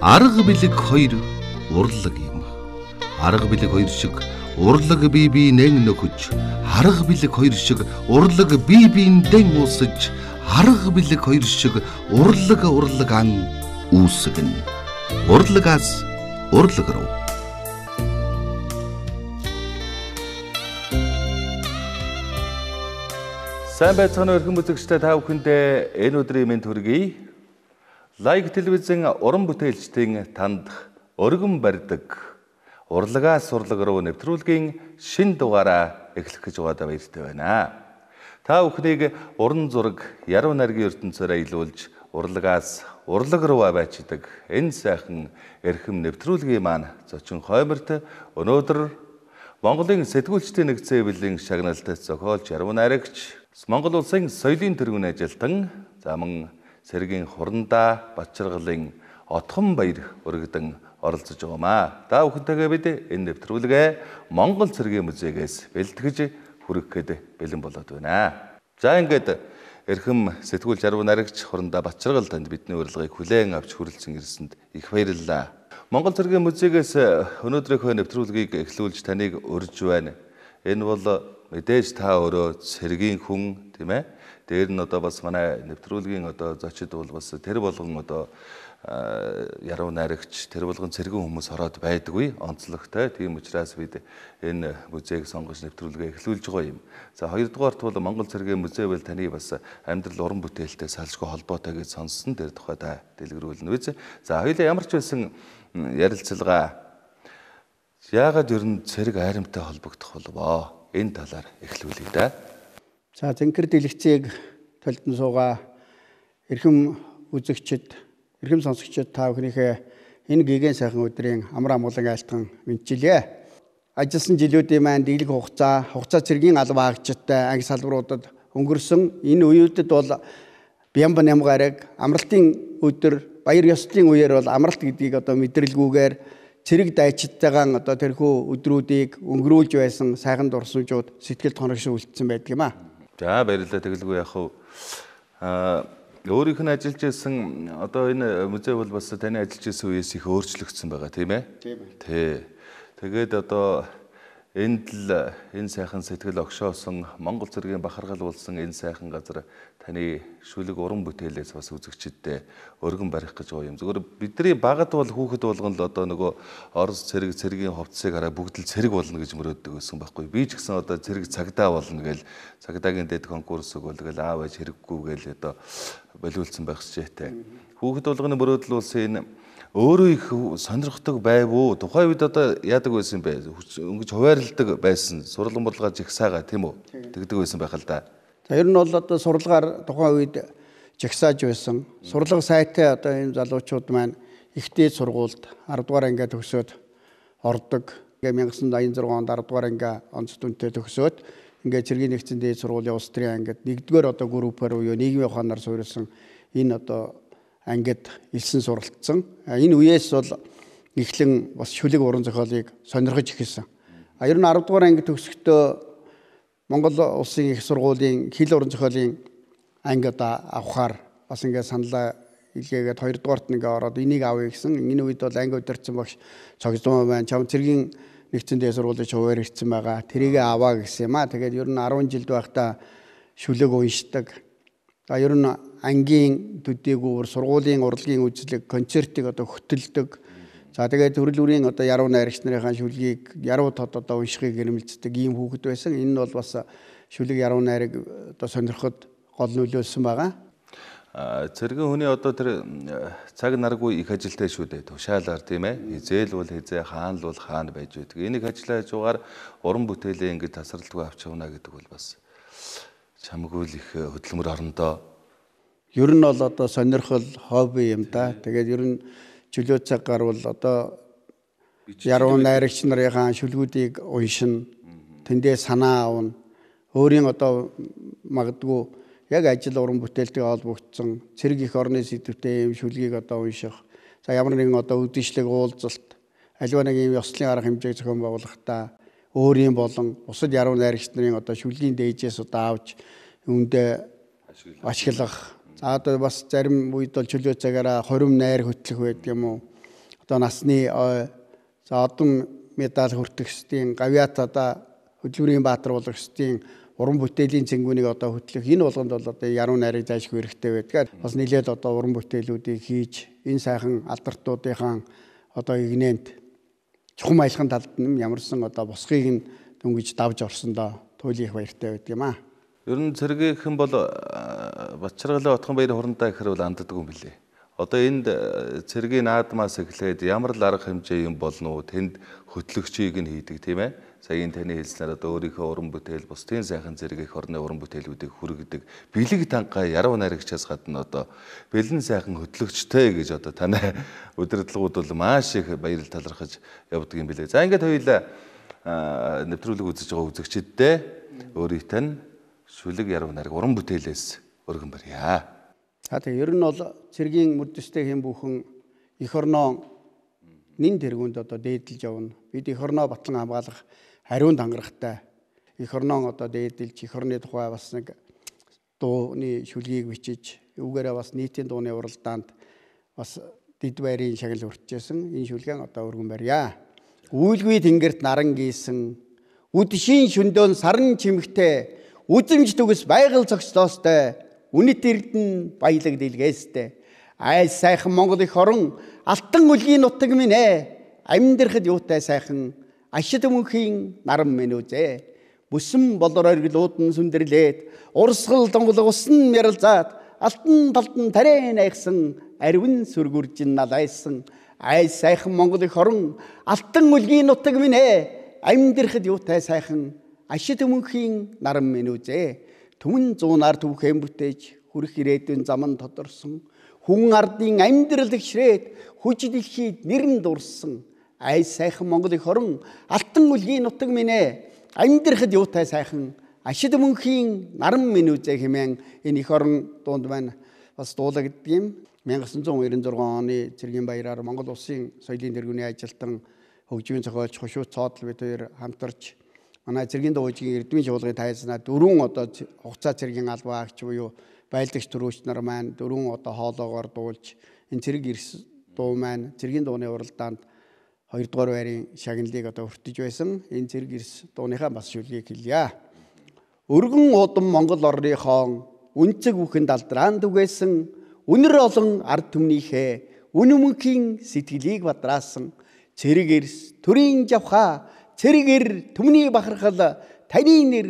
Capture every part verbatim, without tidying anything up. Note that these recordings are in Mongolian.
Арга билэг хоёр урлаг юм. Арга билэг хоёр шиг урлаг бие биенэн нөхөж, арга билэг хоёр шиг урлаг бие биендэн уусаж, арга билэг хоёр шиг урлаг урлаг ан үүсгэн. Урлагаас урлаг руу. Сайн байцгаана уу эрхэм үзэгчдээ, та бүхэндээ энэ өдрийн мэнд хүргэе. Лайк телевизэн уран бүтээлчдийн танд өргөн барьдаг урлагаас урлаг руу нэвтрүүлгийн шин дугаараа эхлэх гэж байгаадаа баяртай байна. Та бүхнийг уран зураг, яруу найргийн ертөнцөөр аялуулж урлагаас урлаг руу аваачдаг энэ сайхан эрхэм нэвтрүүлгийн маань зочин хойморт өнөөдөр Монголын сэтгүүлчдийн нэгдсэн эвлэлийн шагналт зохиолч, яруу найрагч, Монгол улсын соёлын тэргүүн ажилтан, заман Цэргийн Хурандаа Бачиргалын Отхон баяр өргөдөн оролцож байгаамаа. Та бүхэнтэйгээ бид энэ нэвтрүүлгээ Монгол Цэргийн музейгээс бэлтгэж хүргэхэд бэлэн болоод байна. За ингээд эрхэм сэтгүүлч, яруу найрагч Хурандаа Бачиргал танд бидний урилгыг хүлээн авч хүрэлцэн ирсэнд их баярлалаа. Монгол Цэргийн музейгээс өнөөдрийнхөө нэвтрүүлгийг эхлүүлж таныг урьж байна. Энэ бол мэдээж та өөрөө цэргийн хүн, тийм ээ. Дээр нь одоо бас манай нэвтрүүлгийн одоо зочид бол бас тэр болгон одоо яруу найрагч, тэр болгон цэргийн хүмүүс ороод байдаггүй, онцлогтой. Тийм учраас бид энэ музейг сонгож нэвтрүүлгээ эхлүүлж байгаа юм. За хоёрдугаарт бол Монгол Цэргийн музей бол таны бас амьдрал уран бүтээлтэй салшгүй холбоотой гэж сонссон. Тэр тухай та дэлгэрүүлнэ үү? За хоёулаа ямар ч байсан ярилцлага яагаад ер нь цэрэг айрамтай холбогдох болов? Энэ талаар эхлүүлье да. За зэнхэр дэлгэцийг толдон суугаа эрхэм үзэгчид, эрхэм сонсогчид, та бүхнийхээ энэ гигэн сайхан өдрийн амар амгалан айлтган мэдчилье. Ажилласан жилүүдийн маань дийлэх хугацаа, хугацаа цэргийн албан хаагчидтай анги салбаруудад өнгөрсөн энэ үеүүдэд бол Бямба нямгараг амралтын өдөр, баяр ёслолын үеэр бол амралт гэдгийг одоо мэдрэлгүйгээр цэрэг дайчдтайгаан одоо тэрхүү өдрүүдийг өнгөрүүлж байсан сайхан дурсамжууд сэтгэл тоногшин үлдсэн байдаг юм аа. За баярлалаа. Тэгэлгүй яг хав аа өөрийнх нь ажиллаж байсан одоо энэ музей бол бас таны ажиллаж байсан үеэс их өөрчлөгдсөн байгаа тийм ээ? Тийм ээ. Тий. Тэгээд одоо энд л энэ сайхан сэтгэл огшоосон Монгол Цэргийн бахархал болсон энэ сайхан газар таны шүлэг уран бүтээлээс бас үзэгчдэд өргөн барих гэж байгаа юм. Зөвхөн бидний багад бол хүүхэд болгон л одоо нөгөө Орос цэрэг, цэргийн хувцсыг хараа бүгд л цэрэг болно гэж мөрөөддөг байсан байхгүй. Би ч гэсэн одоо цэрэг цагдаа болно гээл цагдаагийн дэд конкурс өгөөл гээл аав ээж хэрэггүй гээл одоо болиулсан байх шижээтэй. Хүүхэд болгоны мөрөөдөл улсын энэ өөрөө их сонирхдаг байв уу? Тухайн үед одоо яадаг байсан бэ? Өнгөж хуваарилдаг байсан. Сургалтын бодлого жигсаага тийм үү? Тэгдэг байсан байх л да. За ер нь бол одоо сурлагаар тухайн үед жагсааж байсан. Сурлага сайтай одоо энэ залуучууд маань ихтэй сургуульд арав дугаар ангиа төгсөөд ордог. Ингээ мянга девятьсот аян зургаан онд арав дугаар ангиа онц дүнтэй төгсөөд ингээ цэргийн нэгдсэн дээд сургуулийн улс төрийн ангид нэгдүгээр одоо группээр буюу нийгмийн ухаанаар суурилсан энэ одоо ангид элсэн суралцсан. Энэ үеэс бол эхлэн бас шүлэг уран зохиолыг сонирхож эхэлсэн. А ер нь арав дугаар анги төгсөхдөө Монгол улсын их сургуулийн хэл уран зохиолын анги одоо авахаар бас ингээд саналаа илгээгээд хоёрдугаарт ингээ ороод энийг авъя гэсэн. Энэ үед бол анги удирдсан багш цогцлоо байна. Чам цэргийн нэгдсэн дээд сургуулийн хуваар ирсэн байгаа. Тэрийг аваа гэсэн юм аа. Тэгээд ер нь арван жилд байхдаа шүлэг уншдаг. За ер нь ангийн төдийгүүр сургуулийн урлагийн үзлэг, концертыг одоо хөтэлдэг. За тэгээд төрөл бүрийн одоо яруу найрагч нарын шүлгийг яруу тод одоо уншихыг гэрмэлцдэг ийм хүүхэд байсан. Энэ нь бол бас шүлэг яруу найраг одоо сонирхоход гол нөлөөлсөн байгаа. Цэргийн хүний одоо тэр цаг наргүй их ажилтай шүү дээ. Тушаалаар тийм ээ. Хизээл бол хизээ, хаан л бол хаан байж байдаг. Энийг ажиллаж байгаагаар уран бүтээлээ ингэж тасралтгүй авч явна гэдэг бол бас чамгүй л их хөдөлмөр орондоо. Ер нь бол одоо сонирхол, хобби юм да. Тэгээд ер нь чөлөө цаг гарвал одоо яруу найрагч нарын шүлгүүдийг уншина, тэндээ санаа авна. Өөрийн одоо магадгүй яг ажил уран бүтээлтэй холбогдсон цэрэг их орны сэдвтэй юм шүлгийг одоо унших. За ямар нэгэн одоо үдшилэг уулзалт, аливаа нэг юм ёслолын арга хэмжээг зохион байгуулахдаа өөрийн болон бусад яруу найрагч нарын одоо шүлгийн дээжээс одоо авч үүндээ ашиглах. За одоо бас зарим үед бол чөлөө цагаараа хорим найр хөтлөх байдаг юм уу? одоо насны за одон медаль хүртэгчдийн гавьяат одоо хөдөлмөрийн баатар болгогчдын уран бүтээлийн цэнгүүнийг одоо хөтлөх энэ болгонд бол одоо яруу найрыг заашгүй хэрэгтэй байдаг. Бас нэлээд одоо уран бүтээлүүдийг хийж энэ сайхан алдартуудынхаа одоо игнэнд чухам аялахын талд нь ямарсан одоо босхийг нь дөнгөж давж орсондоо туйлын их баяртай байдаг юм аа. Ер нь цэргийнхэн бол Батчаргалын Отхон баярын хурантай гэхэр бол анддаг юм билээ. Одоо энд цэргийн наадмаас эхлээд ямар л арга хэмжээ юм болно уу? Тэнд хөтлөгчийг нь хийдэг тийм ээ. Саяын таны хэлснээр одоо өөрийнхөө уран бүтээл бусдын сайхан зэрэг их орны уран бүтээлүүдийг хүргэдэг бэлэг тангаа яруу найрагчаас гадна одоо бэлэн сайхан хөтлөгчтэй гэж одоо таны удирдлагууд бол маш их баярал талархаж явдаг юм билээ. За ингээд хоёулаа нэвтрүүлэг үзэж байгаа үзэгчдээ өөрийнхөө нь шүлэг яруу найраг уран бүтээлээс өргөн барья. За тэгээ ер нь бол цэргийн мөрдөстэй хэм бүхэн эх орноо нэн тэргуунд одоо дээдэлж явна. Бид эх орноо батлан хамгаалах хариунд хангалттай. Эх орноо одоо дээдэлж эх орны тухай бас нэг дууны шүлгийг бичиж, үүгээрээ бас нийтийн дууны уралдаанд бас дэд байрын шагнал хүртжсэн. Энэ шүлгэн одоо өргөн барья. Үйлгүй тэнгэрт наран гийсэн, үдшийн шөндөөн сарн чимэгтэй, үзэмж төгс байгаль зогсоостой, үнэт эрдэн баялаг дэлгээстэй. Айс сайхан Монгол их орон алтан үлгийн нутаг минь ээ, амьдрахад юутай сайхан ашид мөнхийн наран минь үзээ. Бүсэн болор оргилууд нь сүндэрлээд, урсгал донголго усан мяралзаад, алтан талдан тарай найхсан, арвин сүргүржин налайсан. Айс сайхан Монгол их орон алтан үлгийн нутаг минь ээ, амьдрахад юутай сайхан ашид мөнхийн наран минь үзээ. Түмэн зуунаар түүхэн бүтээж хүрэх ирээдүйн заман тодорсон. Хүн ардын амьдрал ихшрээд хүч дэлхийд нэрэн дурсан. Айс сайхан Монгол их орон алтан үлгийн нутаг минь ээ, амьдрахад юутай сайхан ашид мөнхийн наран минь үзээ хэмээн энэ эх орон дуунд маань бас дуулагддаг юм. мянга тоғыз жүз найман шесть оны цэргийн баяраар Монгол улсын соёлын тэргүүний ажилтан хөгжмийн зохиолч Хошуут Цоодл бид хоёр хамтарч манай цэргийн дуугийн эрдмийн чуулгын тайзнаа дөрвөн одоо хугацаа цэргийн албаагч буюу байлдагч төрөөч нар маань дөрвөн одоо хоолоогоор дуулж энэ цэрэг эрс дуу маань цэргийн дууны уралдаанд хоёрдугаар байрын шагналыг одоо хүртэж байсан. Энэ цэрэг эрс дууныхаа бас шүлгийг хэлье. Өргөн удам Монгол орныхон үнцэг бүхэнд алдраан түгээсэн, үнэр олон ард түмнийхээ үнэмөнхийн сэтгэлийг бадраасан, цэрэг эрс төрийн жавха цэрэгэр түмний бахархал таны нэр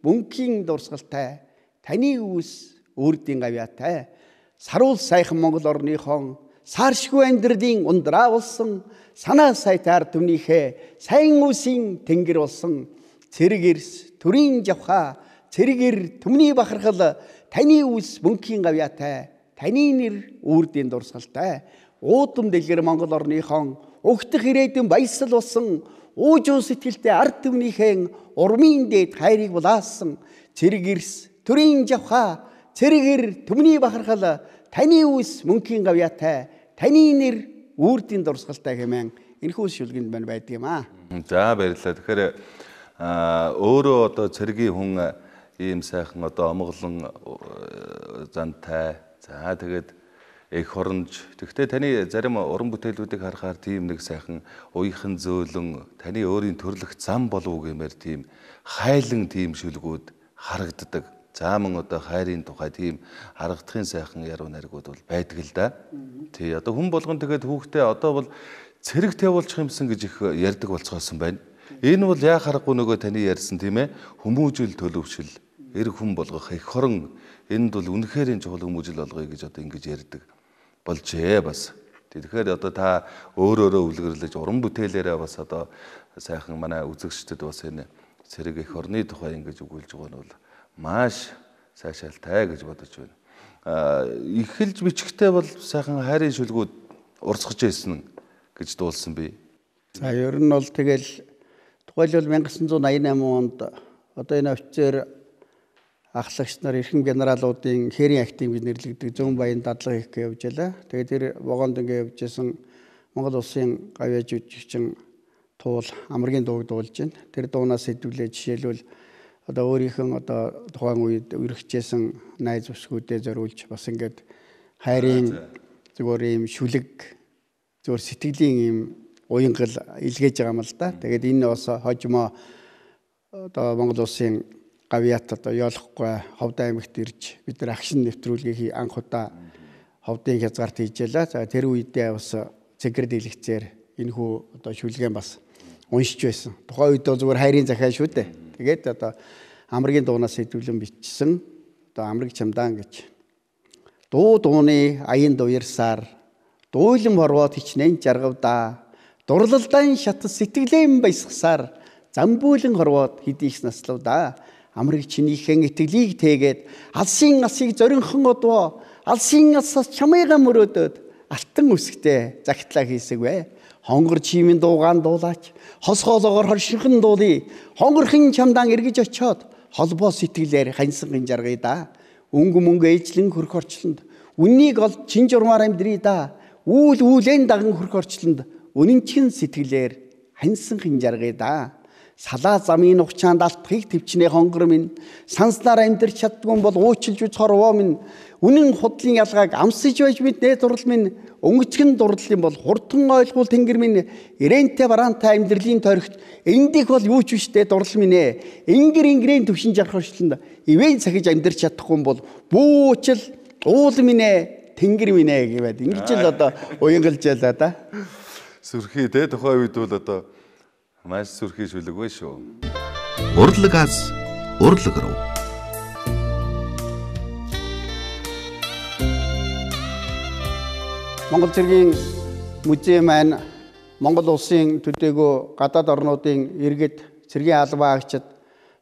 мөнхийн дурсгалтай, таны үс үрдийн гавьяатай. Саруул сайхан Монгол орныхон сааршгүй амьдралын ундраа болсон, санаа сайтай ард түмнийхээ сайн үсийн тэнгэр болсон, цэрэг эрс төрийн жавха цэрэгэр түмний бахархал таны үс мөнхийн гавьяатай, таны нэр үрдийн дурсгалтай. Уудам дэлгэр Монгол орныхон өгдөх ирээдүйн баясал болсон, уужуу сэтгэлтэй ард түмнийхэн урмын дээд хайрыг булаасан, цэрэг эрс төрийн жавха цэрэгэр түмний бахархал таны үс мөнхийн гавьяатай, таны нэр үрдийн дурсгалтай хэмээн энэхүү шүлгэнд маань байдаг юм аа. За баярлалаа. Тэгэхээр өөрөө одоо цэргийн хүн ийм сайхан одоо омглон зантай. За тэгээд эх оронж. Тэгвэл таны зарим уран бүтээлүүдийг харахаар тийм нэг сайхан уяхан зөөлөн таны өөрийн төрлөх зам болов гэмээр тийм хайлан тийм шүлгүүд харагддаг. Зааман одоо хайрын тухай тийм харагдахын сайхан яруу найргууд бол байдаг л да. Тий одоо хүн болгон тэгээд хүүхдээ одоо бол цэрэг тавуулчих юмсан гэж их ярьдаг болцгоосон байна. Энэ бол яа харахгүй нөгөө таны ярьсан тийм ээ хүмүүжил төлөвшил эрг хүн болгох эх орон энд бол үнэхээр энэ чухал хүмүүжил болгоё гэж одоо ингэж ярьдаг болжээ бас. Тэгэхээр одоо та өөр өөрө үлгэрлэж уран бүтээлээрээ бас одоо сайхан манай үзэгчдэд бас энэ цэрэг эх орны тухай ингэж өгүүлж байгаа нь бол маш сайшаалтай гэж бодож байна. Аа эхэлж бичгтээ бол сайхан хайрын шүлгүүд урсгаж байсан гэж дуулсан би. За ер нь бол тэгэл тухайлбал мянга тоғыз жүз найман восемь онд одоо энэ офицер ахлагч нар эрхэм генералуудын хээрийн актив гэж нэрлэгдэх зүүн баян дадлага хийх гэж явж байлаа. Тэгээд тэр вагонд ингэ явж исэн Монгол улсын гавьяа жүжигчин Туул амргийн дууг дуулж байна. Тэр дуунаас хэдвлээ жишээлбэл одоо өөрийнхөө одоо тухайн үед үргэлжсэн найз бүсгүүдэд зориулж бас ингээд хайрын зүгээр ийм шүлэг зөвхөн сэтгэлийн юм уянгал илгээж байгаа юм л да. Тэгээд энэ бас хожимо одоо Монгол улсын гавьяат одоо ёолохгүй Ховд аймагт ирж бид нар агшин нэвтрүүлгийг анх удаа Ховдын хязгаарт хийжээлээ. За тэр үедээ бас цэгэр дэлгэцээр энэ хүү одоо шүлгэн бас уншиж байсан. Тухайн үед зүгээр хайрын захиа шүү дээ. Тэгээд одоо амргийн дуунаас хэдвлэн бичсэн одоо амраг чамдаан гэж дуу дууны аян дуярсаар дуулам хорвоод хичнээн жаргавдаа дурлалдан шат сэтгэлэн баясгасаар замбуулан хорвоод хидийс наславдаа амрыг чинийхэн итгэлийг тэгээд алсын асыг зоринхон одвоо алсын асаас чамайга мөрөөдөд алтан үсгтээ загтлаа хийсэгвэ хонгор чимийн дуугаан дуулаач хосгоолоогоор хоршинхан дуулий хонгорхын чамдаан эргэж очиод холбоо сэтгэлээр ханьсан гинжаргая да өнгө мөнгө ээжлэн хөрх орчлонд үннийг олж чин журмаар амьдрий да үйл үүлэн даган хөрх орчлонд үнэнчин сэтгэлээр ханьсан гинжаргая да салаа замын ухчаанд алтхыг төвчнээ хонгор минь санснаар амьдрч чаддгүй бол уучлж үз хорвоо минь үнэн худлын ялгааг амсаж байж мэднэ дурал минь өнгөцгөн дурлал юм бол хурдан ойлгуул тэнгэр минь ирэнтэй бараантай амьдралын тойрогт эндих бол юу ч биштэй дурал минь ээ ингэр ингэрийн төвшин жарах орчлонд ивэн сахиж амьдрч чадахгүй бол бүүчл уул минь ээ тэнгэр минь ээ гэвэл ингэж л одоо уянгалжаалаа да сүрхий те тухайн үед бол одоо маш сүрхий шүлэг вэ шүү. Урлагаас урлаг руу. Монгол цэргийн музей маань Монгол улсын төдийгүй гадаад орнуудын иргэд цэргийн албаа агчид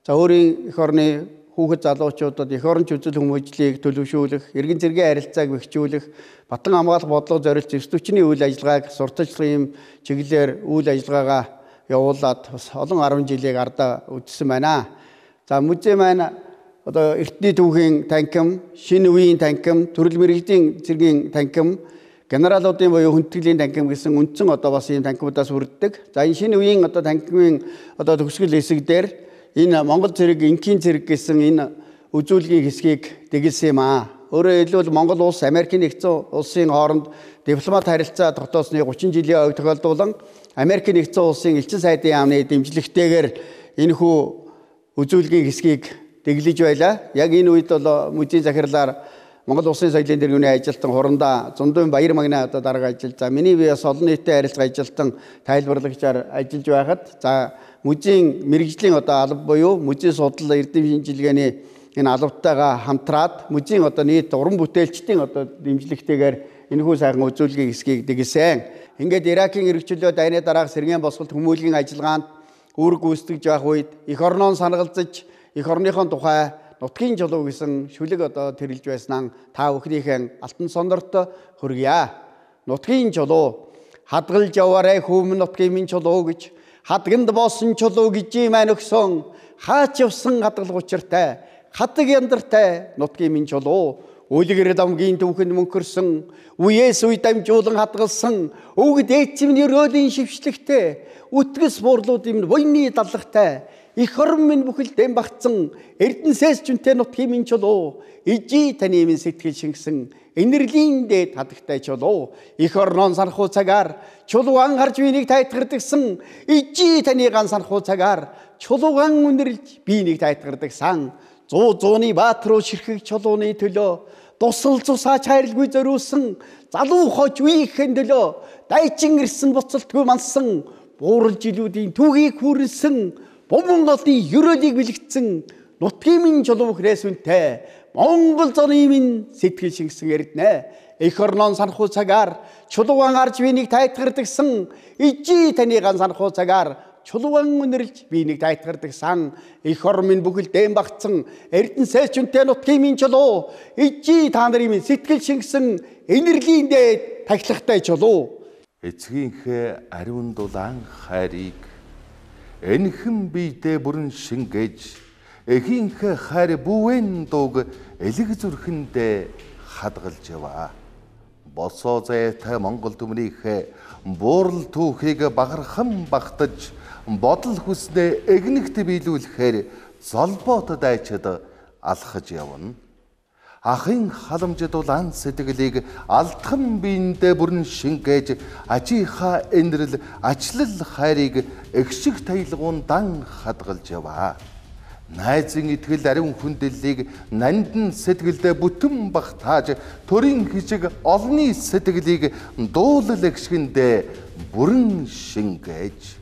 за өөрийн эх орны хүүхэд залуучуудад эх оронч үзэл хүмүүжлийг төлөвшүүлэх, иргэн цэргийн харилцааг бэхжүүлэх, батан хамгаалах бодлого зориулж зэвсдүүчний үйл ажиллагааг сурталчлагын чиглэлээр үйл ажиллагаагаа явуулаад бас олон арван жилийг ардаа үдсэн байна. За музей маань одоо эртний түүхийн танхим, шинэ үеийн танхим, төрөл мэргэжлийн цэргийн танхим, генералуудын буюу хүндэтгэлийн танхим гэсэн үндсэн одоо бас ийм танхимудаас хүрддэг. За энэ шинэ үеийн одоо танхимын одоо төгсгөл хэсэг дээр энэ Монгол цэрэг, инкийн цэрэг гэсэн энэ үзүүлгийн хэсгийг дэглэсэн юм аа. Өөрөөр хэлбэл Монгол улс Америкийн нэгдсэн улсын хооронд дипломат харилцаа тогтоосны гучин жилийн ойг тохиолдуулан Америкийн нэгдсэн улсын элчин сайдын яамны дэмжлэгтэйгээр энэ хүү үзүүлгийн хэсгийг дэглэж байлаа. Яг энэ үед бол музейн захирлаар Монгол улсын соёлын тэргүүний ажилтан хурандаа Зундын Баяр магны одоо дарга ажил. За миний би бас олон нийтэд харилцах ажилтан тайлбарлагчаар ажиллаж байхад за музейн мэрэгжлийн одоо алба буюу музей судлал эрдэм шинжилгээний энэ албатайгаа хамтраад музейн одоо нийт уран бүтээлчдийн одоо дэмжлэгтэйгээр энэ хүү сайхан үзүүлгийн хэсгийг дэглэсэн. Ингээд Иракийн эргчлөө дайны дараах сэргээн босголт хүмүүлийн ажиллагаанд үүрэг гүйцэтгэж байх үед эх орноон санагалзаж эх орныхон тухай нутгийн чулуу гэсэн шүлэг одоо тэрэлж байснаа та бүхнийхэн алтан сондорт хүргье. Нутгийн чулуу хадгалж яваарай хүм нутгийн минь чулуу гэж хадганд боосон чулуу гэж маань өгсөн хаач явсан хадгалах учиртай хатаг яндартай нутгийн минь чулуу үлгэр дамгийн түүхэнд мөнхөрсөн үеэс үе дамжуулан хадгалсан өвгд эцэмний өрөөлийн шившлэгтэй үтгэс буурлууд юм буйны даллагтай их орн минь бүхэлдэн багтсан эрдэнэсээс жүнтэй нутгийн минь чулуу ижи таны минь сэтгэл шингэсэн энерлийн дээд хадагтай чулуу их орнон санхүү цагаар чулууган харж бинийг тайтгардагсан ижи таны ган санхүү цагаар чулууган үнэрлж бинийг тайтгардагсан зуу зууны баат руу ширхэг чулууны төлөө тусал цусаач хайрлгүй зориулсан залуу хож үеийнхэн төлөө дайчин ирсэн буцалтгүй мансан буурал жилүүдийн түүхийг хүрэлсэн бомбон голын ерөөлийг бэлэгдсэн нутгийн минь чулуу хрээс үнтэй Монгол зоны минь сэтгэл шингэсэн эрдэнэ эх орнон санхүү цагаар чулууган арж бинийг тайтгардагсан ижи таны ган санхүү цагаар чулууган үнэрлж бинийг тайтгардагсан эх орн минь бүхэлдэн багтсан эрдэнэсээс жүнтэй нутгийн минь чулуу ижи та нарын минь сэтгэл шингэсэн энерлийн дээд тахилгатай чулуу эцгийнхээ ариун дулаан хайрыг энхэн биедээ бүрэн шингээж эхийнхээ хайр бүвэн дууг элэг зүрхэндээ хадгалж яваа. Босоо зайтай Монгол түмнийхээ буурал түүхийг багархан багтаж бодол хүснээ эгнэгт биелүүлэхээр золбоот дайчид алхаж явна. Ахын халамжид улаан сэтгэлийг алдхан биендээ бүрэн шингээж ажийнхаа энэрл ачлал хайрыг эгшиг таялгуун дан хадгалж яваа. Найзын итгэл ариун хүндлэлийг нандин сэтгэлдээ бүтэн багтааж төрийн хижиг олны сэтгэлийг дуулал эгшгэндээ бүрэн шингээж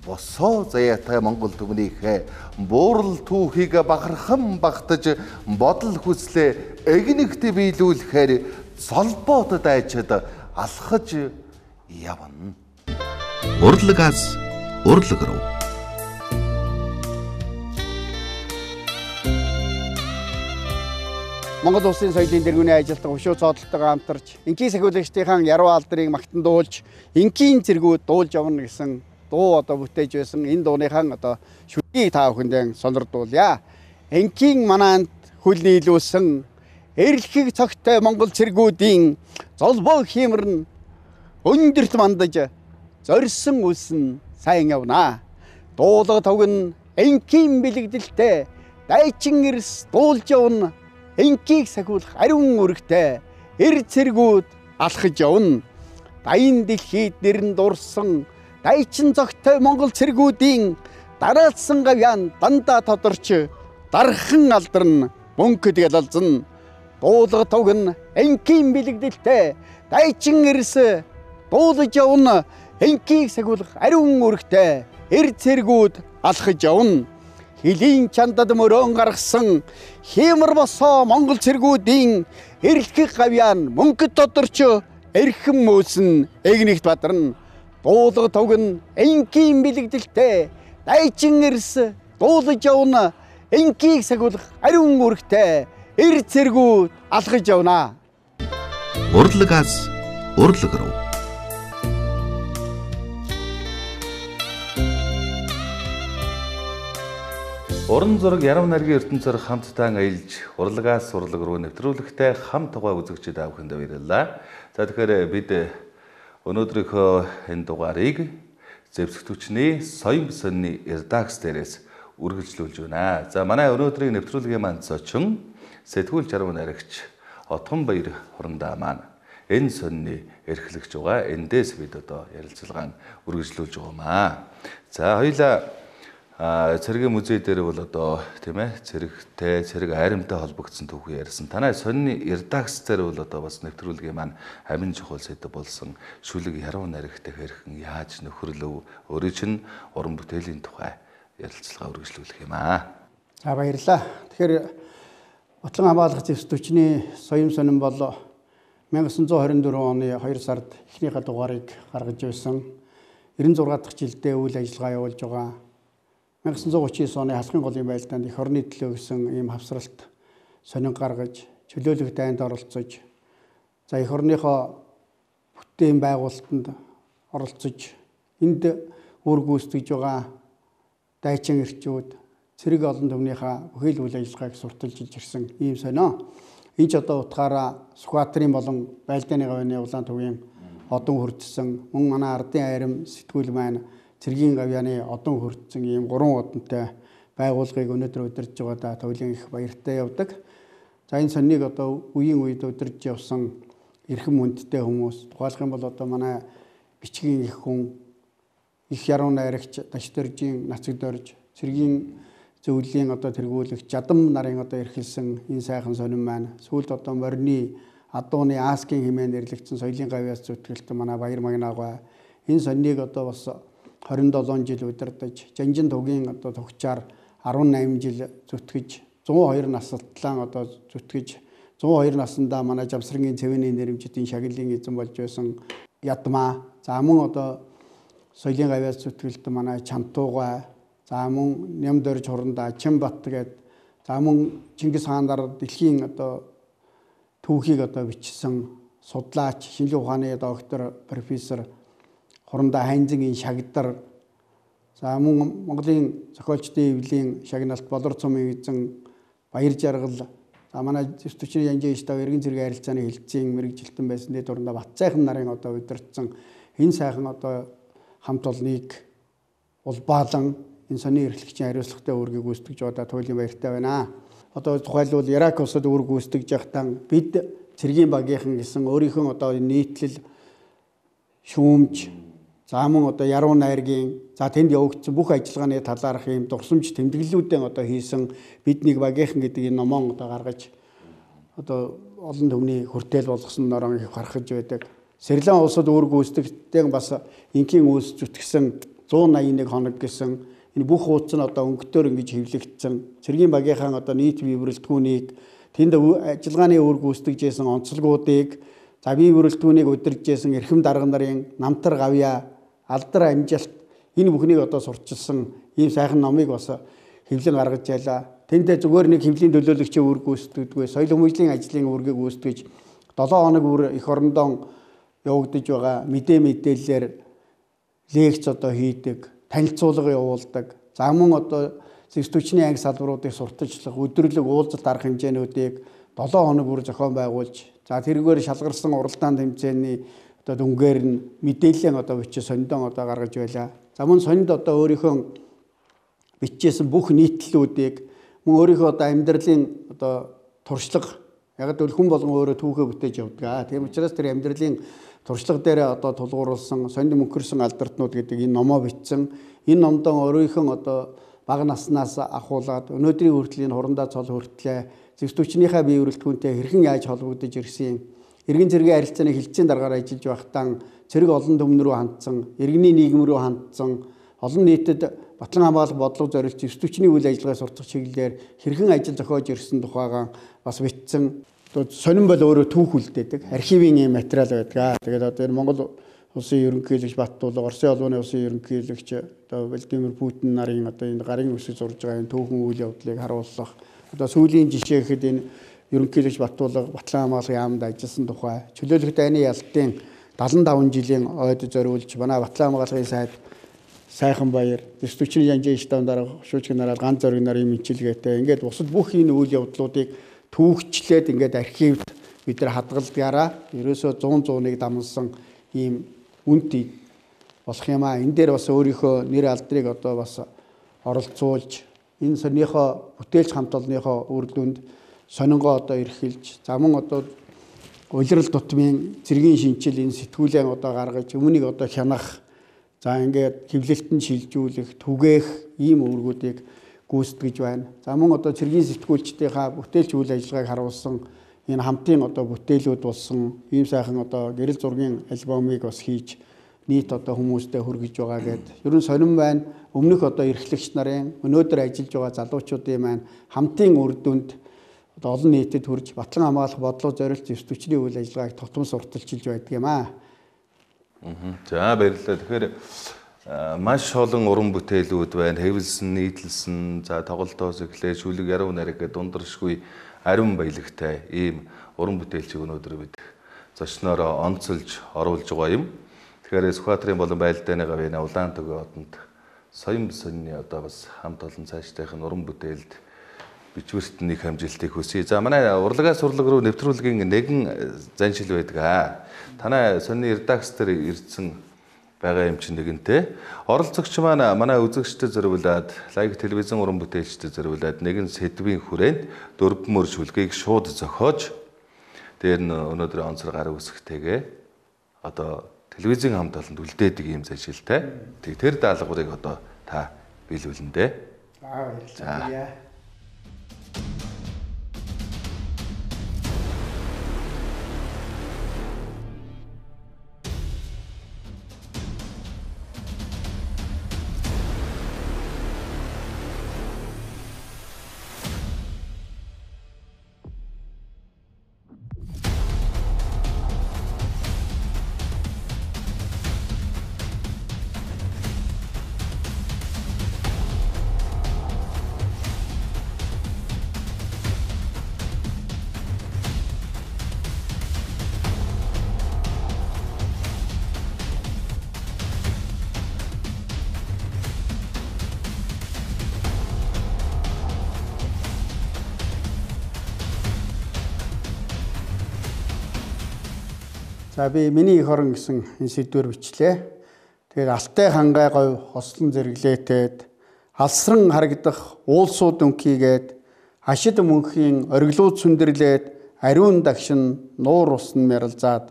босоо заяатай Монгол түмнийхээ буурал түүхийг бахархан багтаж бодол хүслээ эгнэгт биелүүлэхээр золбоот дайчид алхаж явна. Урлагаас урлаг руу. Монгол улсын соёлын тэргүүний ажилтан өшөө цоодлолтойгоо хамтарч инкийн сахиулагчдын яруу алдрыг магтандуулж инкийн зэргүүд дуулж явна гэсэн дуу одоо бүтээж байсан. Энэ дууныхаа одоо шүлгийг та бүхэндээ сонирдуулъя. Инкийн манаанд хүл нийлүүлсэн эрэлхийг цогтой Монгол цэргүүдийн золбоо хиймэрн өндөрт мандаж зорьсон үлсэн сайн явна. Дуулга тогн инкийн бэлэгдэлтэй дайчин эрс дуулж явна. Инкийг сахиулах ариун үрэгтэй эр цэргүүд алхаж явна. Дайн дэлхийд нэрн дурсан дайчин зогтой Монгол цэргүүдийн дараалсан гавьяан дандаа тодорч дархан алдарн мөнхөд ялалзна. Дуулга тогн инкийн бэлэгдэлтэй дайчин эрс дуулж явна. Инкийг сахиулах ариун үрэгтэй эр цэргүүд алхаж явна. Хилийн чандад мөрөөн гаргасан хиймэр босоо Монгол цэргүүдийн эрэлхийг гавьяан мөнхөд тодорч эрхэм мөөсөн эгнэгт бадарна. Дуулга тогн инкийн бэлэгдэлтэй дайчин эрс дуулж явна. Инкийг сахиулах ариун үрэгтэй эр цэргүүд алхаж явна. Урлагаас урлаг руу. Уран зураг ярам найргийн ертөнцөөр хамтдаа аялж урлагаас урлаг руу нэвтрүүлэгтэй хамт тугаа үзэгчид авахынд баярлалаа. За тэгэхээр бид өнөөдрийнхөө энэ дугаарыг зэвсэгтүчний соён сонины редакц дээрээс үргэлжлүүлж байна. За манай өнөөдрийн нэвтрүүлгийн маань зочин сэтгүүл жаргал найрагч Отгон Баяр хурандаа маань энэ сонины эрхлэгч байгаа. Эндээс бид одоо ярилцлагаа үргэлжлүүлж байгаамаа. За хоёулаа А цэргийн музей дээр бол одоо тийм ээ цэрэгтэй цэрэг айрамтай холбогдсон түүхий ярьсан. Танай сонины редакц дээр бол одоо бас нэвтрүүлгийн маань амин чухал сэдв болсон шүлэг яруу найрагтай хэрхэн яаж нөхөрлөв өөрөө чинь уран бүтээлийн тухай ярилцлага үргэлжлүүлэх юм аа. За баярлалаа. Тэгэхээр Батлан хамгаалах зэвсэгтүчний соён сонин бол 천구 хорин дөрвөн оны хоёр сард эхнийхээ дугаарыг гаргаж байсан. девяносто шесть дахь жилдээ үйл ажиллагаа явуулж байгаа. 천구 утас девять оны халахын голын байлдаанд эх орны төлөө гэсэн ийм хавсралт сонин гаргаж чөлөөлөх дайнд оролцож за эх орныхоо бүтээн байгуулалтанд оролцож энд үр гүйцэтгэж байгаа дайчин эрчүүд цэрэг олон түмнийхээ бүхэл үйл ажиллагааг сурталчилж ирсэн ийм сонио. Энд ч одоо утгаараа Сүхбаатарын болон Байлдааны гавьяаны улаан төвийн одон хүрдсэн мөн манай ардын айрам сэтгүүл маань цэргийн гавьяаны одон хүрдсэн ийм гурван одонтой байгууллагыг өнөөдөр удирдах байгаа тавлын их баяртай явдаг. За энэ соннийг одоо үеийн үед удирдах явсан эрхэм хүндтэй хүмүүс тухайлах юм бол одоо манай бичгийн их хүн их яруу найрагч Дашдоржийн нацаг дорж цэргийн зөвлөлийн одоо тэргүүлэгч жадам нарын одоо эрхэлсэн энэ сайхан сонин маань сүүлд одоо морины адууны аскийн хэмээн нэрлэгдсэн соёлын гавьяас зүтгэлтэн манай баяр магнаагаа энэ соннийг одоо бас хорин долоон жил удирдах Жанжин тугийн одоо тогчаар арван найман жил зүтгэж зуун хоёр настлан одоо зүтгэж зуун хоёр наснда манай Жавсрангийн цэвэний нэрмжтийн шагналын эзэн болж байсан ядмаа за мөн одоо соёлын гавьяас зүтгэлтэн манай Чамтууга за мөн Нямдорж хурандаа Чимбат гээд за мөн Чингис хаанаар дэлхийн одоо түүхийг одоо бичсэн судлаач шинжлэх ухааны доктор профессор хурандаа Хайнзангийн шагдар за мөн Монголын зохиолчдын эвлийн шагналт Болор цумын эзэн Баяр жаргал за манай зэвсэгтүчний Янжин Штав эргэн цэргийн харилцааны хэлтсийн мэрэгжилтэн байсан дэд дурандаа Батцайхан нарын одоо удирдсан энэ сайхан одоо хамт олныг улбаалан энэ сонины эрхлэгчийн хариуцлагатай үүргийг гүйцэтгэж байгаа туйлын баяртай байна. одоо тухайлбал Ирак улсад үр гүйцэтгэж байхдаа бид цэргийн багийнхан гэсэн өөрийнхөө одоо нийтлэл шүүмж за мөн одоо яруу найргийн за тэнд явагдсан бүх ажиллагааны талаарх ийм дурсамж тэмдэглэлүүдэн одоо хийсэн бид нэг багийнхан гэдэг энэ номон одоо гаргаж одоо олон түвний хүртэл болгосон норон их харахж байдаг. Сэрилэн улсад үр гүйцэтгэгчдийн бас ингийн үүс зүтгэсэн зуун найман нэг хоног гэсэн энэ бүх хуудас нь одоо өнгөтөр ингэж хэвлэгдсэн. Цэргийн багийнхаа одоо нийт бие бүрэлдэхүүнийг тэнд ажиллагааны үр гүйцэтгэжсэн онцлогуудыг за бие бүрэлдэхүүнийг удирдахжсэн эрхэм дарга нарын намтар гавья алдар амжилт энэ бүхнийг одоо сурчилсан ийм сайхан номыг бас хэвлэн гаргаж байлаа. Тэндээ зүгээр нэг хэвлийн төлөөлөгчийн үр гүйцэтгэдэггүй соёл хүмүүжлийн ажлын үүргийг гүйцэтгэж долоо хоног бүр эх орондоо явагдаж байгаа мэдээ мэдээллээр лекц одоо хийдэг, танилцуулга явуулдаг. За мөн одоо зэвсэгчний анги салбаруудыг сурталчлах, өдрөлөг уулзалт арга хэмжээнүүдийг долоо хоног бүр зохион байгуулж, за тэргээр шалгарсан уралдаан тэмцээний одоо дүнгээр нь мэдээлэл одоо бичиж сониндон одоо гаргаж байлаа. За мөн сонинд одоо өөрийнхөө бичижсэн бүх нийтлэлүүдийг мөн өөрийнхөө одоо амьдралын одоо туршлага яг л хүн болгон өөрөө түүхээ бүтээж явдаг. Тийм учраас тэр амьдралын туршлага дээр одоо тулгуурласан сонинд мөнхөрсөн алдартнууд гэдэг энэ номоо бичсэн. Энэ номдон өөрийнхөө одоо бага наснаас ахуулаад өнөөдрийн хүртлийн хурандаа цол хүртлээ зэвсэгчнийхээ бие бүрэлдэхүүнтэй хэрхэн яаж холбогдож ирсэн, иргэн цэргийн харилцааны хилцээний дараагаар ажиллаж байхдаа цэрэг олон түмэн рүү хандсан, иргэний нийгэм рүү хандсан, олон нийтэд батлан хамгаалах бодлого зориулж зэвсэгчний үйл ажиллагаа суртах чиглэлээр хэрхэн ажил зохиож ирсэн тухайгаа бас бичсэн. Сонин бол өөрөө түүх үлдээдэг. Архивын юм материал байдаг. Тэгээд одоо энэ Монгол улсын ерөнхийлөгч Баттулга, Оросын улсын улсын ерөнхийлөгч одоо Владимир Путин нарын одоо энэ гарын үсэг зурж байгаа энэ түүхэн үйл явдлыг харуулах. Одоо сүүлийн жишээ гэхэд энэ ерөнхийлөгч Баттулга Батлан хамгааллын яамд ажилласан тухай, чөлөөлөх дайны ялтын дагалан таван жилийн ойд зориулж манай Батлан хамгааллын сайд сайхан баяр, зэвсэгчний янжийн штаб дарга шүүжгэн нараад ганц зориг нарын мэнчилгээтэй ингээд бусад бүх энэ үйл явдлуудыг түүхчлээд ингээд архивд бид нар хадгалдгаараа ерөөсөө зуун зууныг дамсан ийм үнэт болох юм аа. Энэ дээр бас өөрийнхөө нэр алдрыг одоо бас оролцуулж энэ сонирхоо бүтээлч хамт олонныхоо үр дүнд сонингоо одоо эрхэлж за мөн одоо улирал тутмын цэргийн шинжил энэ сэтгүүлээ одоо гаргаж өмнөнийг одоо хянах за ингээд хэвлэлтэн шилжүүлэх түгээх ийм үүргүүдийг гүйцэтгэж байна. За мөн одоо цэргийн сэтгүүлчдийнхаа бүтээлч үйл ажиллагааг харуулсан энэ хамтын одоо бүтээлүүд болсон ийм сайхан одоо гэрэл зургийн альбомыг бас хийж нийт одоо хүмүүстэй хүргэж байгаа гэд. Ерөн сонирн байна. Өмнөх одоо эрхлэгч нарын өнөөдөр ажиллаж байгаа залуучуудын маань хамтын үр дүнд одоо олон нийтэд хүрж батлан хамгаалах бодлого зориулж зэвсэгчний үйл ажиллагааг тотом сурталчилж байдаг юм аа. За баярлалаа. Тэгэхээр маш олон уран бүтээлүүд байна. Хэвлсэн, нийтлсэн, за тоглолтоос эхлээ шүлэг яруу найраг гэдэг дундаршгүй ариун баялагтай ийм уран бүтээлчийг өнөөдөр бид зочноороо онцолж оруулж байгаа юм. Тэгэхээр Сүхбаатарын болон Байлдааны гавьяаны улаан төгөө одонд соён сонины одоо бас хамт олон цаашдынх нь уран бүтээлд бичвэрт нэг хамжилтыг хүсье. За манай урлагаас урлаг руу нэвтрүүлгийн нэгэн заншил байдаг аа. Танай сонины редакц дээр ирсэн байгаа юм чинь нэгэнтэй. Оролцогч маань манай үзэгчдэд зориулаад, лайв телевизэн уран бүтээлчдэд зориулаад нэгэн сэдвийн хүрээнд дөрвөн мөр шүлгийг шууд зохиож дээр нь өнөөдрийн онцлог гар үсгтэйгээ одоо телевизийн хамт олонд үлдээдэг юм заншилтай. Тэг тэр даалгаврыг одоо та биелүүлнэ дээ. Аа баярлалаа. За би миний их орон гэсэн энэ сэдвээр бичлээ. Тэгээд алтай хангай говь хослон зэрэглээтэд алсран харагдах уулсууд өнкийгээд Хашид мөнхийн ориглууд сүндэрлээд ариун дагшин нуур усн мяралзаад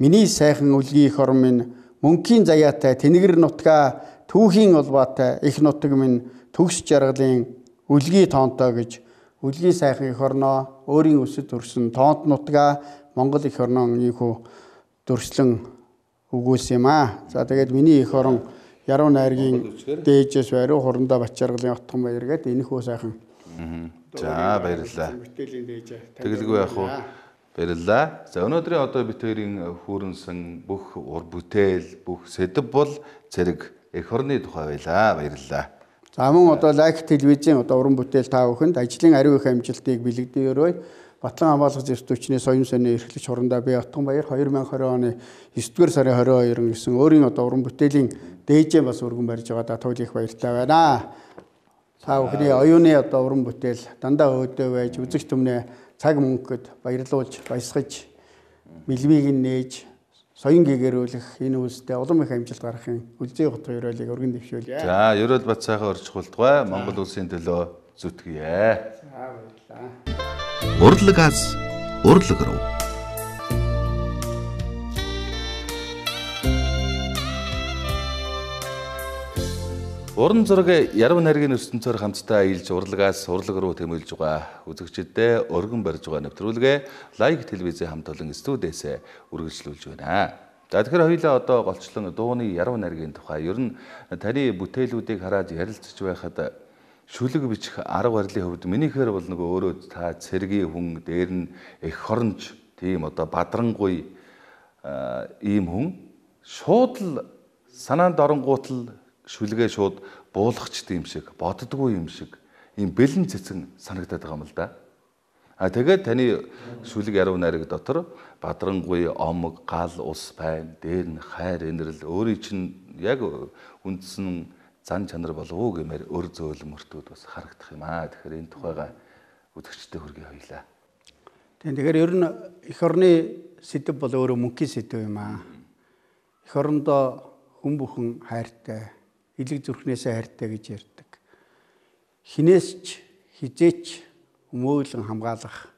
миний сайхан үлгий эх орн минь мөнхийн заяатай тэнгэр нутгаа түүхийн улбаатай их нутаг минь төгс жаргалын үлгий тоонтой гэж үлгий сайхан эх орноо өөрийн өсөд төрсөн тоонт нутгаа Монгол эх орноо ийхүү дөрслөн үгүйс юм аа. За тэгээд миний эх орн Яруу найргийн дээжээс бариу хурандаа Бачаргалын отхон баяр гэдэг энэхүү сайхан. За баярлалаа. Тэгэлгүй яах вэ? Баярлалаа. За өнөөдрийн одоо бид хоёрын хүүрэнсэн бүх ур бүтээл, бүх сэдэв бол зэрэг эх орны тухай байлаа. Баярлалаа. За мөн одоо Лайк телевизийн одоо уран бүтээл та бүхэнд ажлын ариун их амжилтыг бэлэгдэөрөө Батлан хамгаалах зэвсэг түвшний соён сони эрхлэгч хурандаа би Отгон баяр две тысячи двадцать оны девятдугаар сарын двадцать хоёр гэсэн өөрийн одоо уран бүтээлийн дээжээ бас өргөн барьж байгаа да туйл их баяртай байна. Та бүхний оюуны одоо уран бүтээл дандаа өөдөө байж үзэг түмнээ цаг мөнгөд баярлуулж баясгаж мэлмийг нээж соён гэгэрүүлэх энэ үйлстэй улам их амжилт гаргахын үлзий хотын ёроолыг өргөн дэвшүүлье. За ёроол бат сайхан орчхуултгай Монгол улсын төлөө зүтгэе. За баярлалаа. Урлагаас урлаг руу. Уран зураг Яруу найргийн ертөнцөөр хамтдаа аялж урлагаас урлаг руу тэмүүлж байгаа үзэгчдэд өргөн барьж байгаа нэвтрүүлгээ Лайк телевизийн хамт олон студиэс үргэлжлүүлж байна. За тэгэхээр хоёулаа одоо голчлон дууны Яруу найргийн тухай ер нь таны бүтээлүүдийг хараад ярилцж байхад шүлэг бичих арга барилын хувьд минийхээр бол нөгөө өөрөө та цэргийн хүн дээр нь эх хоронж тийм одоо бадрангуй ийм хүн шууд л санаанд оронгуут л шүлгээ шууд буулгачд юм шиг боддгоо юм шиг ийм бэлэн цэцэн санагдаад байгаа юм л да. А тэгээд таны шүлэг Яруу найраг дотор бадрангуй омог гал ус байна дээр нь хайр инрэл өөрийн чинь яг үндсэн зан чанар болов уу гэмээр өр зөөлмөртүүд бас харагдах юм аа. Тэгэхээр энэ тухайга үзэгчдэд хүргэе хоёлаа. Тэгэхээр ер нь эх орны сэдэв бол өөрөө мөнхийн сэдэв юм аа. Эх орондоо хүн бүхэн хайртай, элэг зүрхнээсээ хайртай гэж ярьдаг. Хинээс ч хизээч өмөөлөн хамгаалах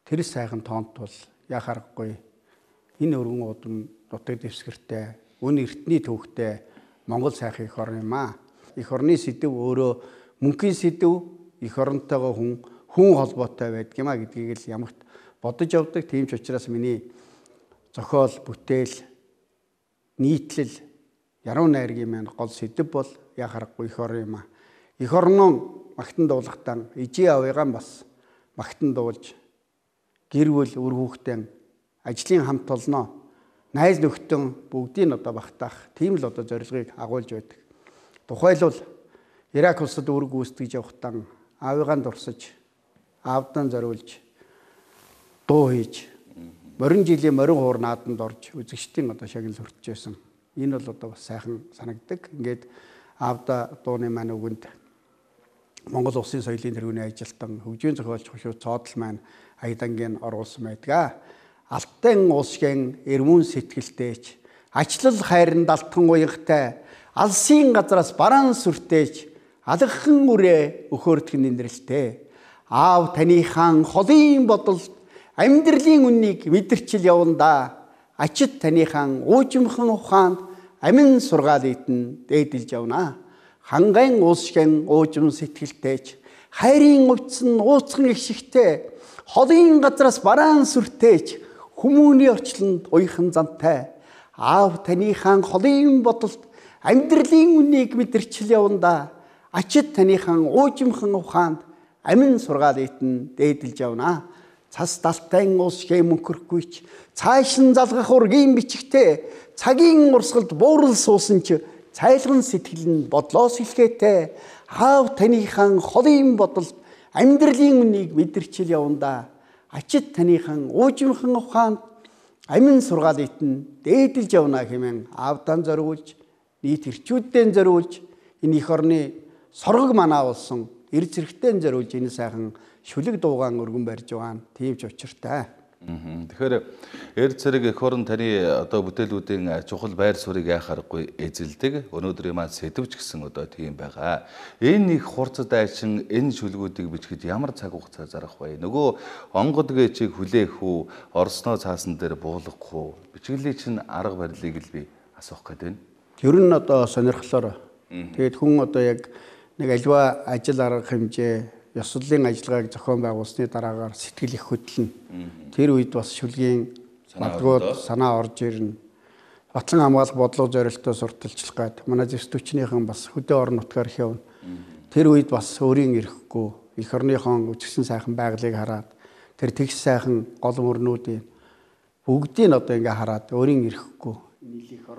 тэр сайхан тоонт бол яах аргагүй. Энэ өргөн удам нутаг дэвсгэртэй, үн эртний төвхтэй Монгол сайхан эх орн юм аа. Эх орны сэдэв өөрөө мөнхийн сэдэв, эх оронтойгоо хүн хүн холбоотой байдаг юм а гэдгийг л ямагт бодож явдаг. Тийм ч учраас миний зохиол, бүтээл, нийтлэл Яруу найргийн маань гол сэдэв бол яах аргагүй эх орн юм а. Эх орноо магтан дуулахтаа ижи авыгаан бас магтан дуулж гэр бүл үр хүүхдэн ажлын хамт олноо найз нөхдөн бүгдийг одоо багтаах тийм л одоо зорилгыг агуулж байдаг. Тухайлбал Ирак улсад үүрэг гүйцэтгэж явахдаа аавыгаан дурсаж, аавдан зориулж, дуу хийж, морин жилийн морин хуур нааданд орж үзэгчдийн одоо шагнал хүртэж байсан. Энэ бол одоо бас сайхан санагддаг. Ингээд аавда дууны маань өгөнд Монгол улсын соёлын тэргүүний ажилтан хөгжийн зохиолч хөшөө цоодол маань аядангийн оруулсан байдаг. Алтан уусгэн эрмүүн сэтгэлтэйч ачлал хайранд алтхан уягтай алсын газраас бараан сүртээж алгхан үрээ өхөөрдгөн нэрэлтэй аав таныхаан холын бодолд амьдралын үннийг мэдэрчил явандаа ачид таныхаан уужимхан ухаанд амин сургаал итэн дээдэлж явна хангайн уусгэн уужим сэтгэлтэйч хайрын увцсан ууцхан их шигтэй холын газраас бараан сүртээж хүмүүний орчлонд уйхан зантай аав таныхаан холын бодолд амьдралын үннийг мэдэрчил явандаа ачид таныхаан уужимхан ухаанд амин сургаал итэн дээдэлж явна цас далтайн ус хэ мөнхөрхгүйч цаашин залгах ургийн бичгтэй цагийн урсгалд буурал суусан ч цайлган сэтгэл нь бодлоос илгээтэй аав таныхаан холын бодолд амьдралын үннийг мэдэрчил явандаа ачид таныхан уужимхан ухаанд амин сургаал итэн дээдэлж явна хэмээн аавдан зориулж нийт эрчүүддээ зориулж энэ эх орны соргог манаа болсон эр зэрэгтэй зориулж энэ сайхан шүлэг дуугаан өргөн барьж байгаа нь тийм ч учиртай. Тэгэхээр эр зэрэг эх орон таны одоо бүтээлүүдийн чухал байр суурийг яхаарахгүй эзэлдэг. Өнөөдрийн маань сэтвч гэсэн одоо тийм байгаа. Энэ их хурцад айчин энэ шүлгүүдийг бичгэд ямар цаг хугацаа зарах вэ? Нөгөө онгод гээчийг хүлээх үү, орсноо цаасан дээр буулгах уу? Бичгэлийг чинь арга барилыг л би асуух гээд байна. Ер нь одоо сонирхлоор тэгээд хүн одоо яг нэг альва ажил арга хэмжээ ёслолын ажиллагааг зохион байгуулсны дараагаар сэтгэл их хөдлөн. Тэр үед бас шүлгийн магадгүй санаа орж ирнэ. Батлан хамгаалах бодлого зорилттой сурталчлах гээд манай зэвс түвшнийхэн бас хөдөө орон нутгаар явна. Тэр үед бас өөрийн ирэхгүй эх орныхон үжигсэн сайхан байгалыг хараад тэр тэгш сайхан гол мөрнүүдийн бүгдийг одоо ингээ хараад өөрийн ирэхгүй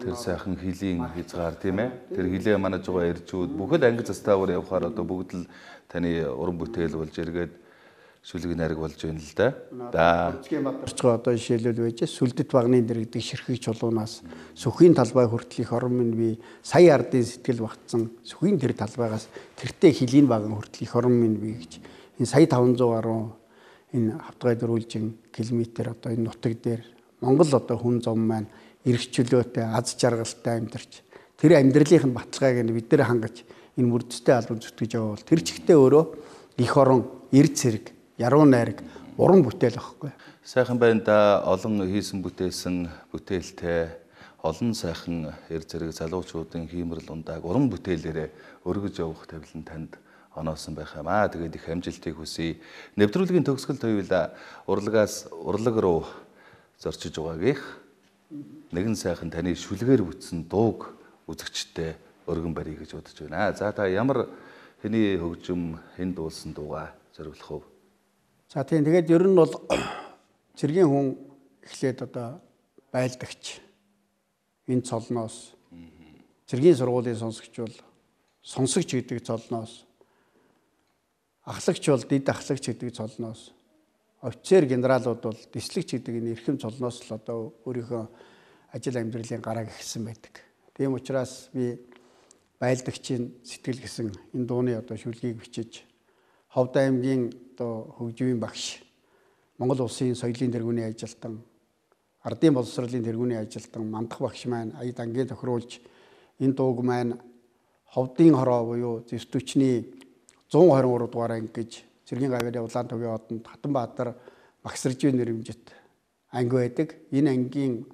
тэр сайхан хилийн хязгаар тийм ээ. Тэр хилээ манаж байгаа иржүүд бүхэл анги застаагаар явхаар одоо бүгд л таны уран бүтээл болж эргээд шүлэг найраг болж байна л да. За. Орчгоо одоо жишээлбэл байж сүлдэт багны дэргэдэг ширхэг чулуунаас сүхийн талбай хүртэл их орон минь би сая ардын сэтгэл багтсан сүхийн тэр талбайгаас тэртээ хилийн баган хүртэл их орон минь би гэж энэ сая таван зуун гаруй энэ хавтгай дөрвөлжин километр одоо энэ нутаг дээр Монгол одоо хүн зам маань эрхчлөөтэй аз жаргалтай амьдарч тэр амьдралын баталгааг нь бид нэр хангаж энэ мөрдөстэй албан зүтгэж байгаа бол тэр чигтээ өөрөө их орон эрд цэрэг яруу найраг уран бүтээл واخхой. Сайхан байна да олон хийсэн бүтээсэн бүтээлтэй олон сайхан эрд цэрэг залуучуудын хиймэрл ундааг уран бүтээлээрээ өргөж явах тавилан танд оноосон байх юм аа. Тэгээд их амжилтыг хүсье. Нэвтрүүлгийн төгсгөлд хоёулаа урлагаас урлаг руу зорчиж байгаагийнх нэгэн сайхан таны шүлгээр бүтсэн дууг үзэгчтэй өргөн барья гэж бодож байна. За та ямар хэний хөгжим хэн дуулсан дуугаа зориулах вэ? За тийм тэгээд ер нь бол цэргийн хүн эхлээд одоо байлдагч энэ цолноос цэргийн сургуулийн сонсогч бол сонсогч гэдэг цолноос ахлагч бол дид ахлагч гэдэг цолноос офицер генералууд бол дислэгч гэдэг энэ эрхэм цолноос л одоо өөрийнхөө ажил амьдралын гарааг ихсэн байдаг. Тийм учраас би байлдагчийн сэтгэл гэсэн энэ дууны одоо шүлгийг бичиж Ховд аймгийн одоо хөгжмийн багш Монгол улсын соёлын тэргүүний ажилтан ардын боловсролын тэргүүний ажилтан мандах багш маань аяд ангийн тохируулж энэ дууг маань Ховдын хороо буюу зэвс түвшний зуун хорин гурав дугаар анги гэж Цэргийн гавьяаны улаан төвийн одонд Хатанбаатар Магсаржийн нэрмжит анги байдаг. Энэ ангийн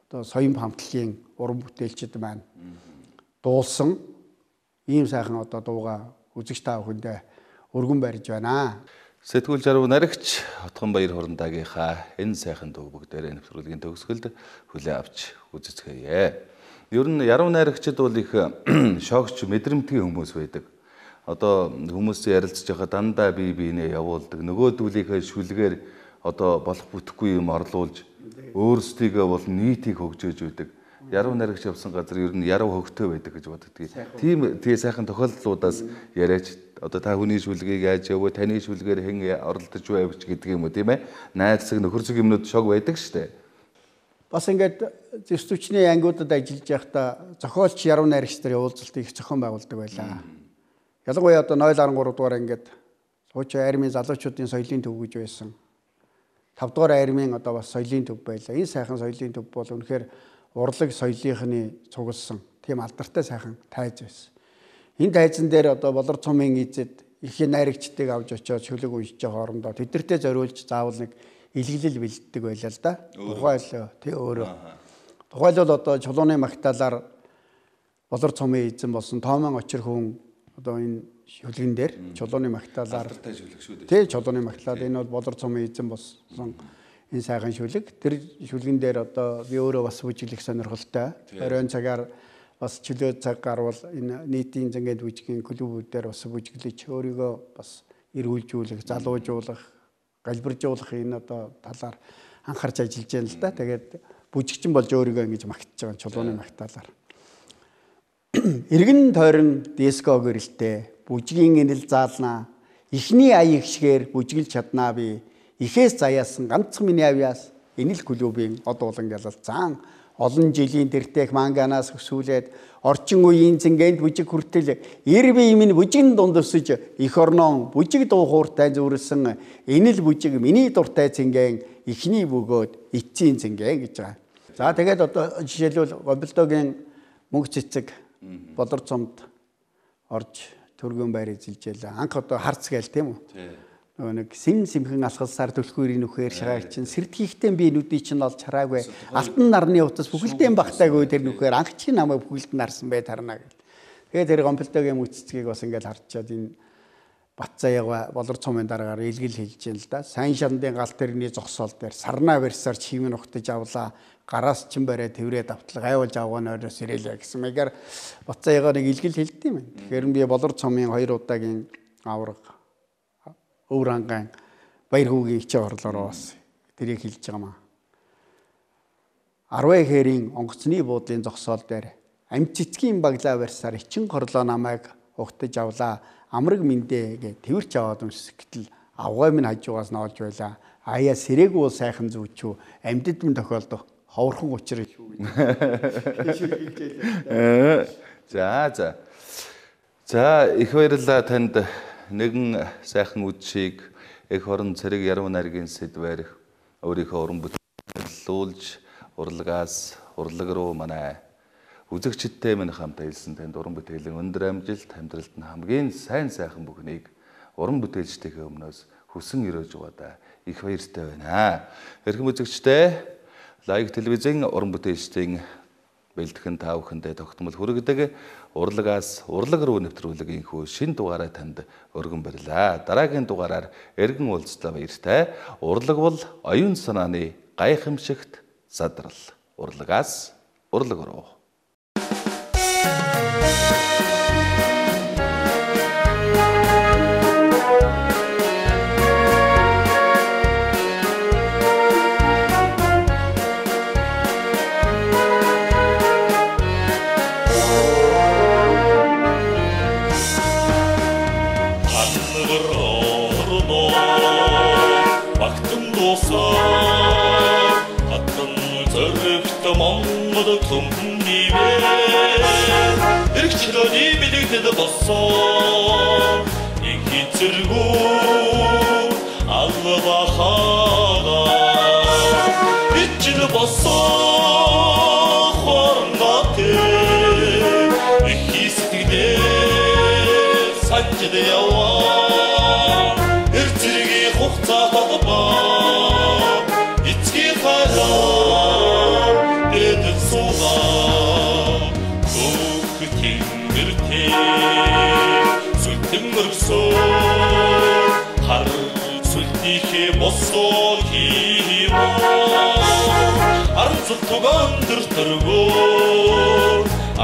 одоо соён хамтлагийн уран бүтээлчид маань дуулсан ийм сайхан одоо дууга үзэгч та бүхэндээ өргөн барьж байна. Сэтгүүл жаргал наригч Отгон Баяр Хурандагийнхаа энэ сайхан дуу бүгдээрээ нэвтрүүлгийн төгсгөлд хүлээн авч үзэцгээе. Ер нь яруу найрагчид бол их шогч мэдрэмтгий хүмүүс байдаг. Одоо хүмүүсийн ярилцж байгаа дандаа бие биенээ явуулдаг. Нөгөөдүүлийнхээ шүлгээр одоо болох бүтэхгүй юм орлуулж өөрсдийгөө бол нийтийг хөгжөөж байдаг. Яруу найрагч явсан газар ер нь яруу хөгтөө байдаг гэж боддгийг. Тийм тий сайхан тохиолдлуудаас яриач одоо та хүний шүлгийг яаж явуу, таны шүлгээр хэн оролдож байвч гэдэг юм уу тийм ээ. Найдсаг нөхөрсөг юмнууд шог байдаг штэ. Бас ингээд зэвс түвшний ангиудад ажиллаж байхдаа зохиолч яруу найрагч нар уулзалтыг их зохион байгуулдаг байлаа. Ялангуяа одоо ноёл арван гурав дугаар ангид хуучин армийн залуучуудын соёлын төв гэж байсан. тав дугаар армийн одоо бас соёлын төв байлаа. Энэ сайхан соёлын төв бол үнэхээр урлаг соёлынхны цугласан тийм алдартай сайхан тайз байсан. Энэ тайзан дээр одоо болор цомын эзэд их найрагчдыг авч очиод шүлэг уншиж байгаа хоорондоо тэдэртээ зориулж заавал нэг илгэлэл бэлддэг байлаа л да. Тухайлбал тий өөрөө. Тухайлбал одоо чулууны магтаалаар болор цомын эзэн болсон Тоомон очир хүн одоо энэ шүлгэн дээр чулууны магтаалаар тий чулууны магтаал энэ бол болор цомын эзэн болсон энэ сайхан шүлэг. Тэр шүлгэн дээр одоо би өөрөө бас бүжиглэх сонирхолтой. Оройн цагаар бас чөлөө цаг гарвал энэ нийтийн зэнгэд бүжгийн клубүүдээр бас бүжиглэж өөрийгөө бас эргүүлжүүлэх, залуужуулах, галбиржуулах энэ одоо талаар анхаарч ажиллаж байна л да. Тэгээд бүжигчин болж өөрийгөө ингэж магтаж байгаа чулууны магтаалаар. Иргэн тойрон диско гэрэлтэй бүжгийн инэл заалнаа ихний аяг шигээр бүжиглж чаднаа би ихээс заяасан ганцхан миний авьяас энэ л клубын од улан ялалцаан олон жилийн тэртех манганаас өсүүлээд орчин үеийн зингэнд бүжиг хүртэл эр бие минь бүжигэн дунд өсөж их орноо бүжиг дуу хууртай зүрсэн энэ л бүжиг миний дуртай зингэн ихний бөгөөд эцсийн зингээ гэж байгаа. За тэгээд одоо жишээлбэл Гомболдогийн мөнгө цэцэг болор цомд орж төргөн байр эзэлжээ. Анх одоо харц гээл тийм үү? Нөгөө нэг сим симхэн алхалсаар түлхүүрийн нүхээр шагаар чинь сэрдгийхтэй би нүдий чинь олж хараагүй. Алтан нарны утас бүхэлдэн багтаагүй тэр нүхээр анх чи намайг бүхэлд нарсан бай тарна гэл. Тэгээд тэр Гомболдогийн мөнгө цэцгийг бас ингээд харчаад энэ Батцаяга болор цомын дараагаар илгэл хэлж юм л да. Сайн шандын гал тэрний зогсоол дээр сарнаа барьсаар чимэн ухтаж авлаа. Гараас чин бариад тэврээд автлаа. Гайвал жавгаан ороос ирээлээ гэсэн мэгээр Батцаяга нэг илгэл хэлдэв юм. Тэгэхээр би болор цомын хоёр удаагийн авраг өвөр ангаан баяр хүүгийн ичээ орлороо бас тэрийг хэлж байгаа маа. Арвай хэрийн онгоцны буудлын зогсоол дээр амт цэцгийн баглаа барьсаар ичин горлоо намайг ухтаж авлаа. Амраг мэндэ гэ тэрч аваад өмсөх гэтэл авгай минь хажуугаас ноолж байла. Аяа сэрээгүй бол сайхан зүүчүү. Амьдд минь тохиолдох ховорхон учраа шүү гэж. За за. За их баярлалаа танд нэгэн сайхан үдшийг эх хорон цэрэг яруу найргийн сэдвээр өөрийнхөө уран бүтээлүүлж урлагаас урлаг руу манай үзэгчдтэй минь хамт хэлсэн танд уран бүтээлийн өндөр амжилт амьдралд нь хамгийн сайн сайхан бүхнийг уран бүтээлчдийнхээ өмнөөс хүсэн өрөөж угаадаа их баяртай байна. Хэрхэн үзэгчтэй лайк телевизийн уран бүтээлчдийн бэлтгэн та бүхэндээ тогтмол хүргэдэг урлагаас урлаг руу нэвтрүүлгийн хүү шин дугаараа танд өргөн барьлаа. Дараагийн дугаараар эргэн уулзлаа баяртай. Урлаг бол оюун санааны гайхамшигт задрал. Урлагаас урлаг руу. Эргчлөөний бэлэгдэд болсон их зэргүү албахага ичл болсон хорнготэй их сэтгэлээр санжид яваа эр зэргийн хугацаа холбоо эцгийн хараа эд суугаа хар сүлтийнхээ босоо хийма арцул тугаан дөр төргөө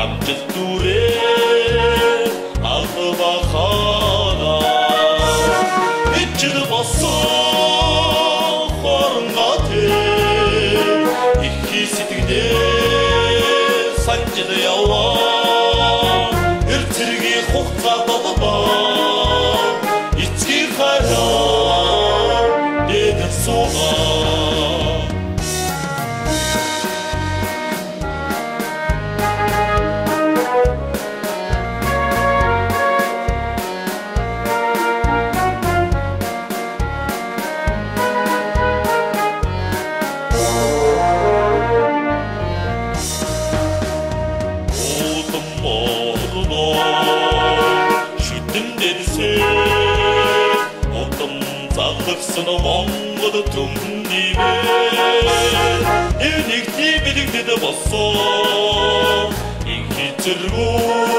амжилт дүрээ албахана ичл босоо хорнготэй их сэтгэлээр санжид яваа эр зэргийн хугацаа болбоо Монгол төмнивэ энийг ти бэлэгдэд болсон их зэргүү